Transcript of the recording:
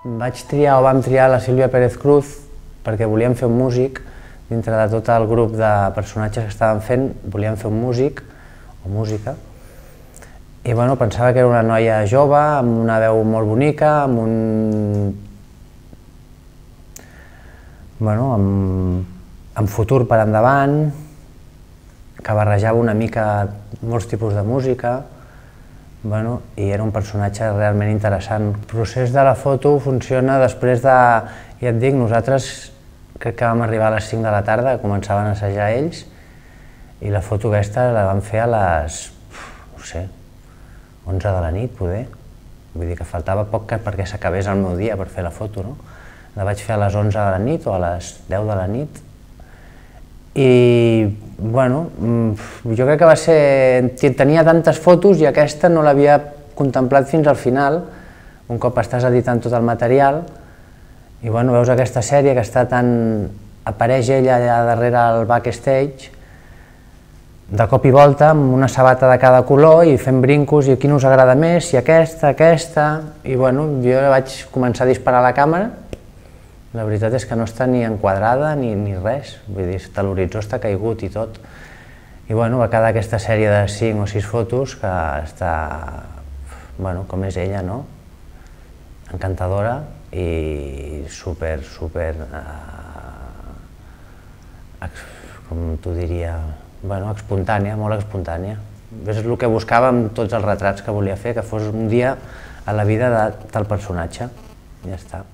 Vam triar la Sílvia Pérez Cruz perquè volíem fer un músic. Dintre de tot el grup de personatges que estàvem fent, volíem fer un músic o música. I bueno, pensava que era una noia jove, amb una veu molt bonica, amb futur per endavant, que barrejava una mica molts tipus de música, i era un personatge realment interessant. El procés de la foto funciona després de, ja et dic, nosaltres crec que vam arribar a les 5 de la tarda, començaven a assajar ells, i la foto aquesta la vam fer a les, no sé, 11 de la nit, poder. Vull dir que faltava poc perquè s'acabés el meu dia per fer la foto, no? La vaig fer a les 11 de la nit o a les 10 de la nit. I, bueno, jo crec que va ser... Tenia tantes fotos i aquesta no l'havia contemplat fins al final, un cop estàs editant tot el material, i bueno, veus aquesta sèrie que està tan... apareix ella allà darrere al backstage, de cop i volta, amb una sabata de cada color i fent brincos, i quin us agrada més, si aquesta, i bueno, jo vaig començar a disparar a la càmera. La veritat és que no està ni enquadrada ni res, vull dir, l'horitzó està caigut i tot. I bueno, va quedar aquesta sèrie de 5 o 6 fotos que està, bueno, com és ella, no? Encantadora i super, com t'ho diria, bueno, espontània, molt espontània. És el que buscava amb tots els retrats que volia fer, que fos un dia a la vida del personatge. Ja està.